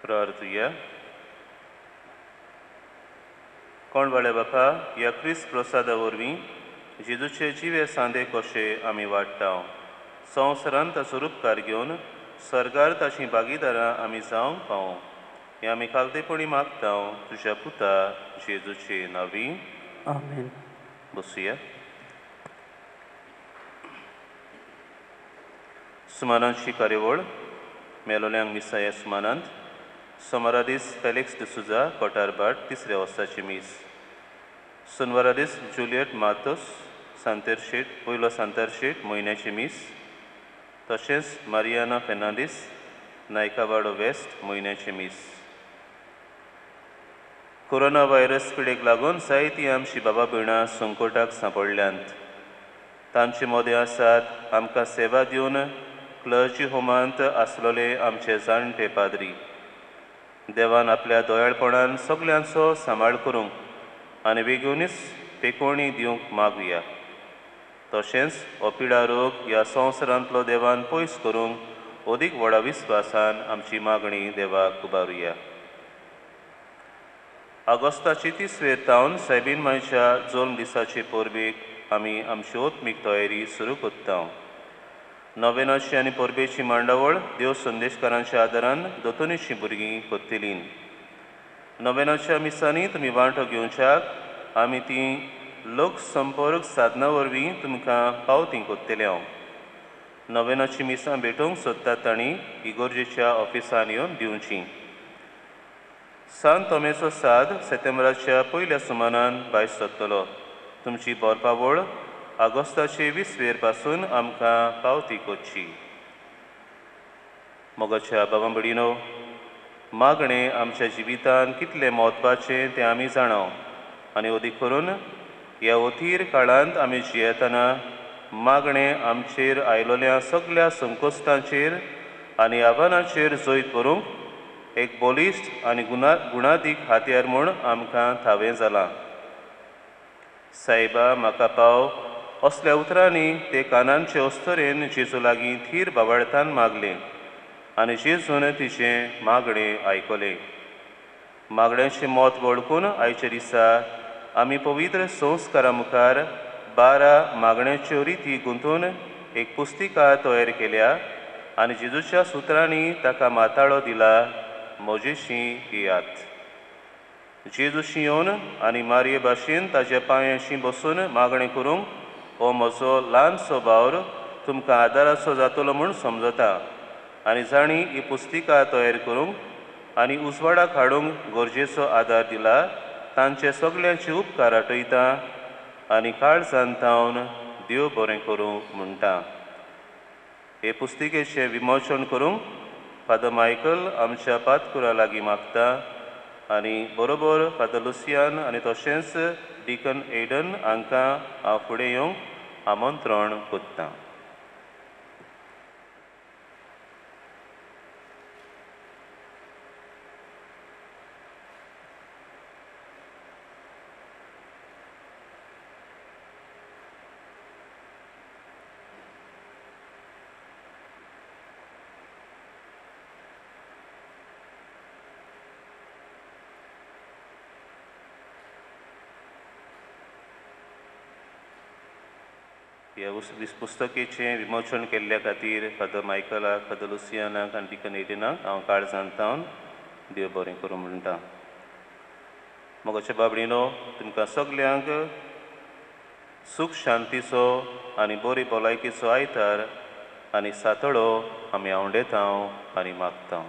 प्रार्थुया. कोण वाळे बापा, ह्या क्रिस्त प्रसादा वरवीं जेजूचे जिवे सांदे कशे आमी वाडटा, संवसारांत ताचो रुपकार घेवन सर्गार ताचीं भागीदारां आमी जावंक पावूं, हें आमी खालतेपणी मागता तुज्या पुता जेजूचे नांवी. आमेन. बसुया. सुमानाची कार्यावळ. मेलोल्यांक मिसा. ह्या सुमानांत सोमारा दीस फेलिक्स डिसुजा, कोटारभाट, तिसऱ्या वर्साची मीस. सुनवारा दीस जुलियट मातोस, सांतेरशेट, पयलो सांतारशेट, म्हयन्याची मीस. तशेंच मारियाना फेर्नांदीस, नायकावाडो वेस्ट, म्हयन्याची मीस. कोरोना व्हायरस पिडेक लागून जायतीं आमची बाबा भयणां संकटाक सांपडल्यांत. तांचे मदें आसात आमकां सेवा दिवन क्लर्जी होमांत आसलेले आमचे जाणटे पाद्री. देवान आपल्या दयाळपणान सगल्यांचो सांबाळ करूंक आनी वेगूनच पेकोवणी दिवंक मागुया. तशेंच हो पिडा रोग ह्या संवसारांतलो देवान पयस करूंक अदीक व्हडा विस्वासान आमची मागणी देवाक उबारुया. ऑगस्टाची तिसवेर तावन सायबीन मायच्या जल्म दिसाचे परबेक आमी आमची आत्मीक तयारी सुरू करता. नवेनाची आनी परबेची मांडावळ देव संदेशकारांच्या आदारान दोतोनीचीं भुरगीं करतलीं. नवेनाच्या मिसांनी तुमी वांटो घेवच्याक आमी ती लोकसंपर्क साधना वरवीं तुमकां पावती करतले. हांव नवेनाची मिसां भेटोवंक सोदतात तांणी इगोर्जेच्या ऑफिसान येवन दिवची. सान तोमेचो साद सेतेंब्राच्या पयल्या सुमानान भायर सरतलो. तुमची बरपावळ ऑगस्टाचे 20वेर पासून आमकां पावती करची. मोगाच्या बाबा भयणीनो, मागणें आमच्या जिवितान कितलें म्हत्वाचें तें आमी जाणाव आनी अदीक करून ह्या अथीर काळांत आमी जियेतना मागणें आमचेर आयलोल्या सगल्या संकश्टांचेर आनी आव्हानाचेर जैत व्हरूंक एक बलिश्ट आनी गुणादीक हातयार म्हूण आमकां थावें जालां. सायबा म्हाका पाव असल्या उतरांनी ते कानांचे अस्तरेन जेजू लागीं थीर बावळतान मागलें आनी जेजून तिचें मागणें आयकलें. मागण्यांचें मत वळखून आयच्या दिसा आमी पवित्र संस्कारा मुखार 12 मागण्यांच्यो रिती गुंतून एक पुस्तिका तयार केल्या आनी जेजूच्या सुत्रांनी ताका माताळो दिला, म्हजेशी येयात. जेजूशी येवन आनी मारये भाशेन ताज्या पांयांशी बसून मागणें करूंक हो म्हजो ल्हानसो वावर तुमकां आदाराचो जातलो म्हूण समजता आनी जांणी ही पुस्तिका तयार करूंक आनी उजवाडाक हाडूंक गरजेचो आदार दिला तांचे सगल्यांचे उपकार आठयता आनी काळजान तावन देव बरें करूं म्हणटा. हे पुस्तिकेचें विमोचन करूंक फादर मायकल आमच्या पातकुरा लागीं मागता आनी बरोबर फादर लुसियान आनी तशेंच डिकन एडन हांकां हांव फुडें येवंक आमंत्रण करतां. ह्या पुस्तकेचें विमोचन केल्ल्या खातीर फादर मायकलाक, फादर लुसियानाक आनी डिकन एडिनाक हांव काळजान तावन देव बरें करूं म्हणटा. मोगाच्या बाबडीनो, तुमकां सगल्यांक सूख शांतीचो आनी बरी भलायकेचो आयतार आनी सातळो आमी आवडेता आनी मागता.